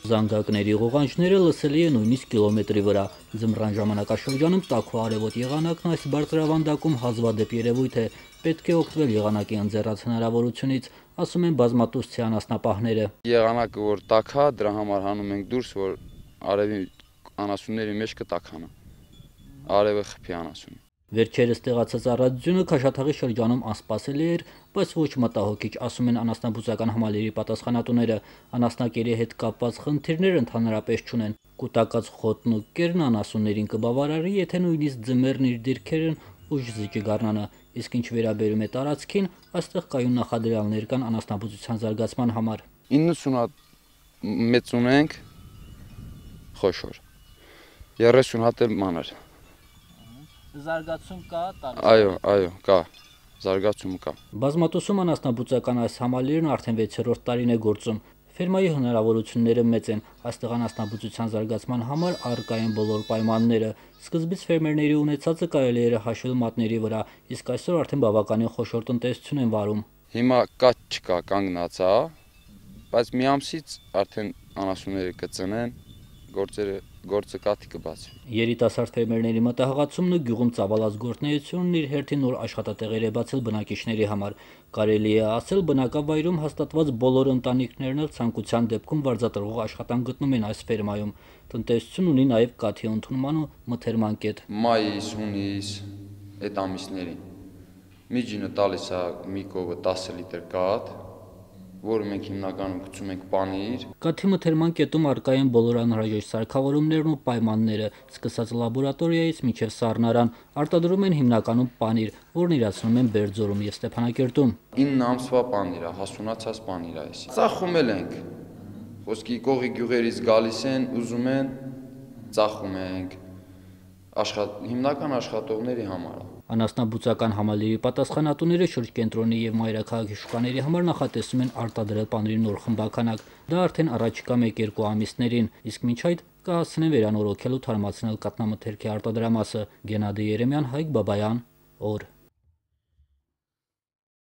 Զանգակների ղողանջները լսելի է նույնիսկ կիլոմետրի վրա։ Ձմռան ժամանակաշրջանում տաք ու արևոտ եղանակն այս բարձրավանդակում հազվադեպ երևույթ է, պետք է օգտվել եղանակի ընձեռած հնարավորությունից, ասում են բազմատուսցի անասնապահները։ Եղանակը որ տաք է, դրա համար հանում ենք դուրս, որ արևի անասունների մեջ կտաքանա, արևը խփի անասունի։ Վերջերս տեղացած առածությունը Քաշաթաղի շրջանում անսպասելի էր, բայց ոչ մտահոգիչ, ասում են անասնաբուծական համալիրի պատասխանատուները։ Անասնակերի հետ կապված խնդիրներ ընդհանրապես չունեն։ Կուտակած խոտն ու կերն անասուններին կբավարարի, եթե նույնիսկ ձմեռն իր դիրքերն ուժ զիջի գարնանը։ Իսկ ինչ վերաբերում է տարածքին, այստեղ կայուն նախադրյալներ կան անասնաբուծության զարգացման համար։ 90 հատ մեծ ունենք խոշոր, 30 հատ էլ մանր։ Զարգացում կա Այո, կա, զարգացում կա։ Բազմատուսում անասնաբուծական այս համալիրն արդեն 6-րդ տարին է գործում։ Ֆերմայի հնարավորությունները մեծ են, այստեղ անասնաբուծության զարգացման համար առկա են բոլոր պայմանները։ Սկզբից ֆերմերների ունեցածը կարելի էր հաշվել մատների վրա, իսկ այսօր արդեն բավականին խոշոր տնտեսություն են վարում։ Հիմա կաթ չկա, կանգնած է, բայց մի ամսից արդեն անասունները կծնեն, գործը կաթի կբացվի։ Երիտասարդ ֆերմերների մտահղացումն ու գյուղում ծավալած գործունեությունն իր հերթին նոր աշխատատեղեր է բացել բնակիչների համար։ Կարելի է ասել, բնակավայրում հաստատված բոլոր ընտանիքներն էլ ցանկության դեպքում վարձատրվող աշխատանք գտնում են այս ֆերմայում։ Տնտեսություն ունի նաև կաթի ընդունման ու մթերման կետ։ Մայիս, հունիս, այդ ամիսներին միջինը տալիս է մի կովը 10 լիտր կաթ, որը մենք հիմնականում գցում ենք պանիր։ Կաթի մթերման կետում առկա են բոլոր անհրաժեշտ սարքավորումներն ու պայմանները, սկսած լաբորատորիայից մինչև սառնարան, արտադրում են հիմնականում պանիր, որն իրացնում են Բերձորում և Ստեփանակերտում։ 9 ամսվա պանիր է, հասունացած պանիր է էս։ Ծախում ենք, խոսքի կողի գյուղերից գալիս են, ուզում են, ծախում ենք, հիմնական աշխատողների համար։ Անասնաբուծական համալիրի պատասխանատուները շրջկենտրոնի և մայրաքաղաքի շուկաների համար նախատեսում են արտադրել պանիրի նոր խմբաքանակ։ Դա արդեն առաջիկա 1-2 ամիսներին, իսկ մինչ այդ կհասցնեն վերանորոգել ու թարմացնել կաթնամթերքի արտադրամասը։ Գենադի Երեմյան, Հայկ Բաբայան, օր։